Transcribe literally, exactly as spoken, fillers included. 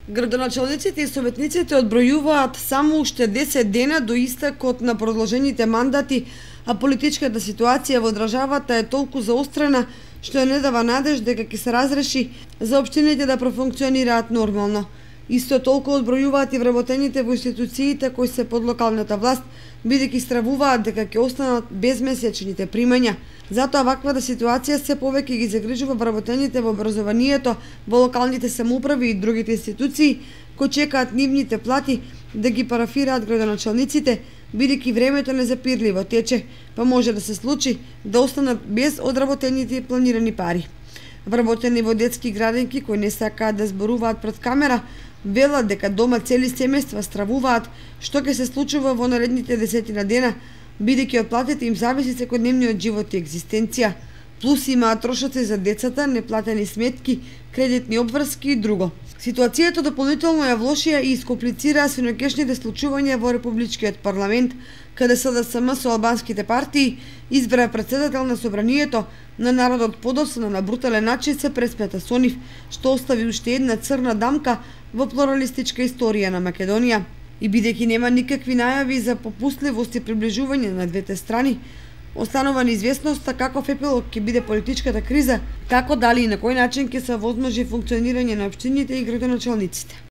Градоначалниците и советниците одбројуваат само уште десет дена до истекот на продолжените мандати, а политичката ситуација во државата е толку заострена што не дава надеж дека ќе се разреши за општините да профункционираат нормално. Исто толку одбројуваат и вработените во институциите кои се под локалната власт, бидејќи стравуваат дека ќе останат без месечните примања. Затоа ваквата ситуација се повеќе ги загрижува вработените во образованието, во локалните самоуправи и другите институции кои чекаат нивните плати да ги парафираат градоначалниците, бидејќи времето незапирливо тече, па може да се случи да останат без одработените и планирани пари. Вработени во детски градинки кои не сакаат да зборуваат пред камера, велат дека дома цели семејства стравуваат што ќе се случува во наредните десетина дена, бидејќи од платите им зависи секојдневниот живот и екзистенција. Плюс имаат трошоци за децата, неплатени сметки, кредитни обврски и друго. Ситуацијата дополнително ја влошија и искомплицираа синоќешните случувања во Републичкиот парламент, каде СДСМ со албанските партии избра председател на собранието, на народот подоцна на брутален начин се преспета со нив, што остави уште една црна дамка во плуралистичка историја на Македонија. И бидејќи нема никакви најави за попустливост и приближување на двете страни, останува неизвестноста каков епилог ќе биде политичката криза, како дали и на кој начин ќе се возможи функционирање на општините и градоначалниците.